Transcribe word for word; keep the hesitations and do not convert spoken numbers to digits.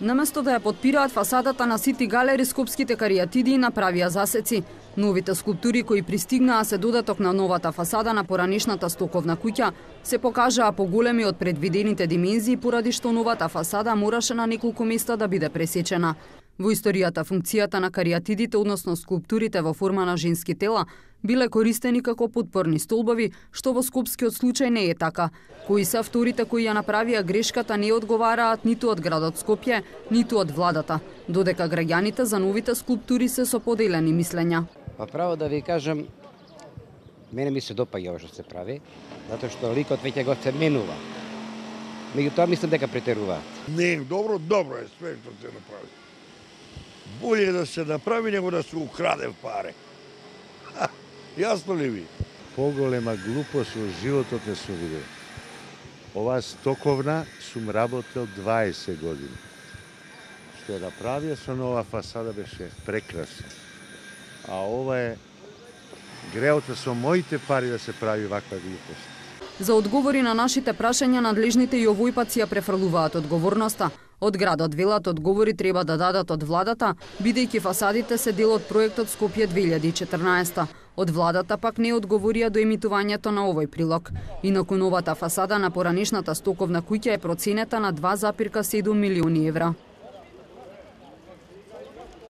Наместо да ја подпираат фасадата на Сити Галери, скопските каријатиди направија засеци. Новите скулптури кои пристигнаа се додаток на новата фасада на поранешната стоковна куќа се покажаа поголеми од предвидените димензии, поради што новата фасада мораше на неколку места да биде пресечена. Во историјата функцијата на каријатидите, односно скулптурите во форма на женски тела, биле користени како подпорни столбови, што во скопскиот случај не е така. Кои се авторите кои ја направија грешката не одговараат ниту од градот Скопје, ниту од владата, додека граѓаните за новите скулптури се со поделени мислења. Па право да ви кажам, мене ми се допаѓа ова што се прави, затоа што ликот веќе го се менува. Меѓутоа мислам дека претеруваат. Не, добро, добро е све што се направи. Боле е да се направи него да се украде паре. Ха, јасно ли ви? Поголема глупост во животот не сум видел. Ова стоковна сум работел дваесет години. Што ја направија со нова фасада беше прекрасно. А ова е греото со моите пари да се прави ваква глупост. За одговори на нашите прашања, надлежните и овој пат си ја префрлуваат одговорноста. Од градот велат одговори треба да дадат од владата, бидејќи фасадите се дел од проектот Скопје две илјади и четрнаесета. Од владата пак не одговорија до емитувањето на овој прилог. Инаку новата фасада на поранешната стоковна куќа е проценета на два зарез седум милиони евра.